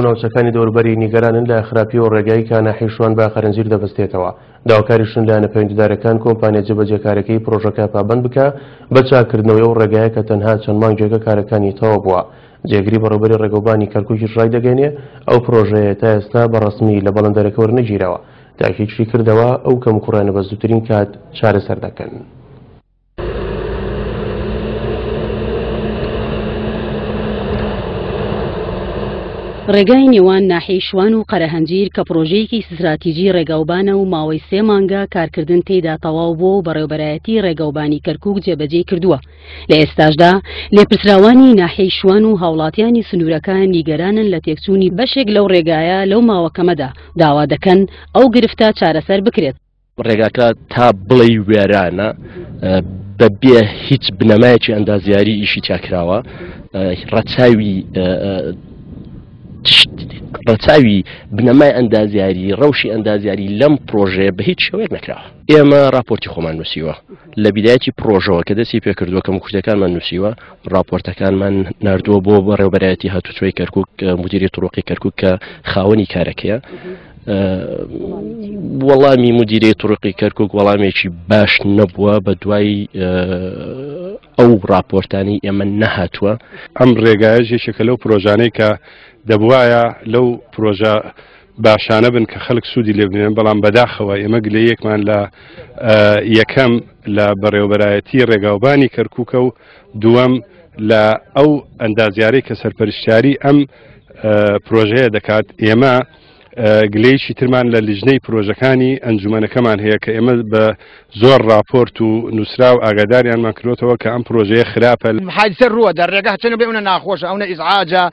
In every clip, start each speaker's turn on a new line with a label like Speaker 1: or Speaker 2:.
Speaker 1: ناوچەکانی دەوروبەری نیگەرانن لە خراپی و ڕێگای کە ناحیەی شوان بە قەرەنجیر دەبەستێتەوە. داواکاریشن لایەنە پەیوەندیدارەکان کۆمپانیا جێبەجێکارەکەی پرۆژەکە پابەند بکا بە چاککردنەوەی ئەو ڕێگایە کە تەنها چەند مانگێکە کارەکانی تەواو بووە. جێگری بەڕێوبەری ڕێگەوبانی کەرکوکیش ڕایدەگەیەنێ ئەو پرۆژەیە تا ئێستا بە ڕەسمی لە بەڵێندەرەکە وەرنەگیراوە. تاکیدشی کردەوە ئەو کەموکوڕیانە بە زووترین کات چارەسەر دەکەن.
Speaker 2: ڕێگای نێوان ناحیەی شوان و قەرەهەنجیر کە پڕۆژەیەکی ستراتیجی ڕێگاوبانە و ماوەی سێ مانگە کارکردن تێیدا تەواو بووە و بەڕێوەبەرایەتی ڕێگەوبانی کەرکوک جێبەجێی کردووە، لە ئێستاشدا لێپرسراوانی ناحیەی شوان و هاوڵاتیانی سنوورەکە نیگەرانن لە تێکچوونی بەشێک لەو ڕێگایە لەو ماوە کەمەدا، داوا دەکەن ئەو گرفتە چارەسەر بکرێت.
Speaker 3: ڕێگاکە تا بڵێی وێرانە بە بێ هیچ بنەمایەکی ئەندازیاری ئیشی تیا کراوە ڕەچاوی ڕەچاوی بنەمای ئەندازیاری ڕەوشی ئەندازیاری لەم پرۆژەیە بە هیچ شێوەیەک نەکراوە ئێمە راپۆرتی خۆمان نووسیوە لە بیدایەتی پرۆژەوە کە دەستی پێکردووە کەم کوردەکانمان نووسیوە راپۆرتەکانمان نردووە بۆ بەڕێوبەرایەتی هاتوچۆی کەرکک مدیری طرقی کەرکک کە خاوەنی کارەکەیە وەڵامی مدیرەی طرقی کەرکک وەڵامێکی باش نەبووە بە دوای ئەو راپۆرتانی ئێمە نەهاتووە.
Speaker 4: ئەم ڕێگایەش یەکێکە لەو پرۆژانەی کە دەبوایە لەو پرۆژە باشانە بن کە خەڵک سوودی لێ ببینن، بەڵام بەداخەوە ئێمە گلەیەکمان لە یەکەم لە بەڕێوەبەرایەتی ڕێگاوبانی کەرکووکە و دووەم لە ئەو ئەندازیارەی کە سەرپەرشتیاری ئەم پرۆژەیە دەکات. ئێمە گلەیەکی ترمان لە لیژنەی پرۆژەکانی ئەنجومەنەکەمان هەیە کە ئێمە بە زۆر راپۆرت و نووسراو ئاگاداریانمان کرۆتەوە کە ئەم پرۆژەیە خراپە.
Speaker 5: حادیسە ڕووە دە ڕێگا چەنە بێ ئەونە ناخۆشە ئەونە ئیزعاجە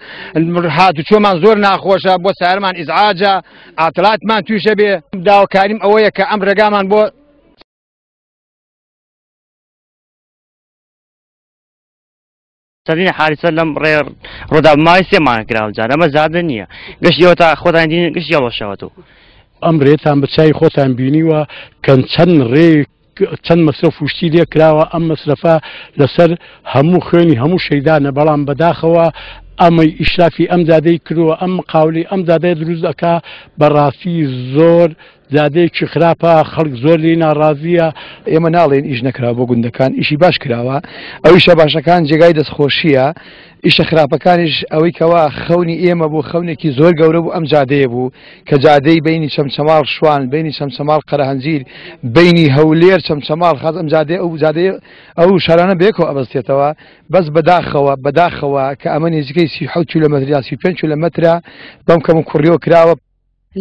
Speaker 5: هاتوچۆمان زۆر ناخۆشە بۆ سارمان ئیزعاجە ئاتڵاتمان تویشە بێ داواکاریم ئەوەیە کە ئەم ڕێگامان بۆ
Speaker 6: چەندین حادیسە لەم ڕێ ڕوودا ماوەی سێ مانگ کراوە جار ئەمە زادە نییە گشت ئێوە تا خۆتان دین گشت یەڵۆشەوەتەوە.
Speaker 7: ئەم ڕێتان بە چاوی خۆتان بینیوە کە چەند ڕێ چەند مەسرەف و شتی لێ کراوە ئەم مەسرەفە لەسەر هەموو خوێنی هەموو شەیدانە بەڵام بەداخەوە ئەمەی ئیشرافی ئەم جادەی کردووە ئەم مقاولی ئەم جادەیە دروست ئەکا بەڕاستی زۆر جادەیەکی خراپە خەڵک زۆر لێی ناڕازیە.
Speaker 8: ئێمە ناڵێین ئیش نەکراوە بۆ گوندەکان ئیشی باش کراوە ئەو ئیشە باشەکان جێگای دەستخۆشیە ئیشە خراپەکانیش ئەوەی کەوا خەونی ئێمە بوو خەونێکی زۆر گەورە بوو ئەم جادەیە بوو کە جادەی بینی چەمچەماڵ شوان بینی چەمچەماڵ قەرەهەنجیر بینی هەولێر چەمچەماڵ خاز ئەم جادەیە ئەو جادەیە ئەو شارانە بەیەکەوە ئەبەستێتەوە بەس بەداخەوە بەداخەوە کە ئەمە نزیکەی 37 کیلۆمەتر یا 35 کیلۆمەترە بەم کەم و کوڕیەوە کراوە.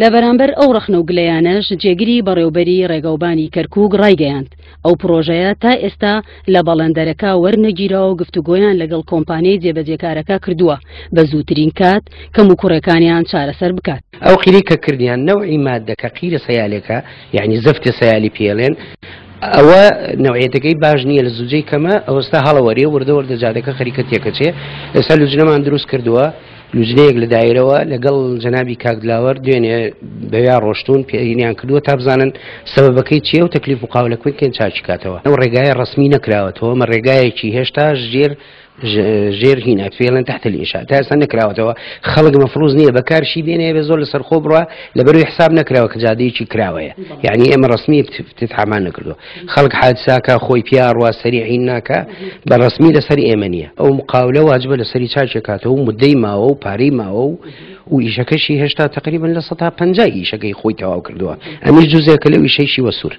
Speaker 2: لە بەرامبەر ئەو ڕەخنە و گلەیانەش جێگری بەڕێوبەری ڕێگەوبانی کەرکوک ڕایگەیاند، ئەو پڕۆژەیە تا ئێستا لە بەڵێندەرەکە وەرنەگیراوە و گفتوگۆیان لەگەڵ کۆمپانیای جێبەجێکارەکە کردووە بە زووترین کات کەموکوڕێکانیان چارەسەر بکات.
Speaker 9: ئەو قیرەی کە کردیان نەوعی مادەکە قیرە سەیالێکە یەعنی زەفتی سەیالی پێڵێن ئەوە نەوعیەتەکەی باش نییە لە زوجەی کەمە ئەوستا هەڵەوەرێ وردە وردە جادەکە خەریکە تێکەچێ ئێستا لوجنەمان دروست کردووە لوجنەیەک لە دایرەوە لەگەڵ جەنابی کاک دلاوەر دوێنێ بەویا ڕۆشتوون پێینیان کردووە تا بزانن سەبەبەکەی چییە و تەکلیف مقاولەکەی کەین چاکی کاتەوە. ئەو ڕێگایە ڕەسمی نەکراوەتەوە، ئەمە ڕێگایەکی هێشتا ژێر ژێر هینە پێڵێن تحت الانشاء تا ئێستا نەکراوەتەوە خەڵک مەفروز نییە بەکارشی بێنێ بێ زۆر لەسەر خۆ بڕوا لەبەروی حساب نەکراوە کە جادەیەکی کراوەیە یعنی ئێمە ڕەسمی افتتاحمان نەکردووە خەڵک حادساکە خۆی پیا ڕوا سەریعین ناکە بە ڕەسمی لەسەر ئێمە نییە ئەو مقاولە واجبە لەسەری چاکێکاتەوە و مدەی ماوە و پارەی ماوە و و ئیشەکەشی هێشتا تقریبا 50% ئیشەکەی خۆی تەواو کردووە ئەمیش جزێکە لەو ئیشەیشی وەسوور.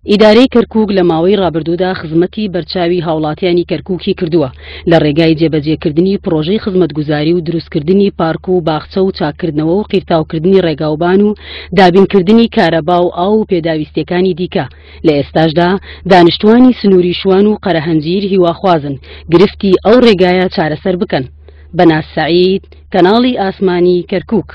Speaker 2: ئیدارەی کەرکوک لە ماوەی ڕابردوودا خزمەتی بەرچاوی هاوڵاتیانی کەرکوکی کردووە لە ڕێگای جێبەجێکردنی پڕۆژەی خزمەتگوزاری و دروستکردنی پارک و باخچە و چاککردنەوە و قیرتاوکردنی ڕێگاوبان و دابینکردنی کارەبا و ئاو و پێداویستیەکانی دیکە، لە ئێستاشدا دانیشتوانی سنووری شوان و قەرەهەنجیر هیواخوازن گرفتی ئەو ڕێگایە چارەسەر بکەن. بەناز سەعید، کەناڵی ئاسمانی کەرکوک.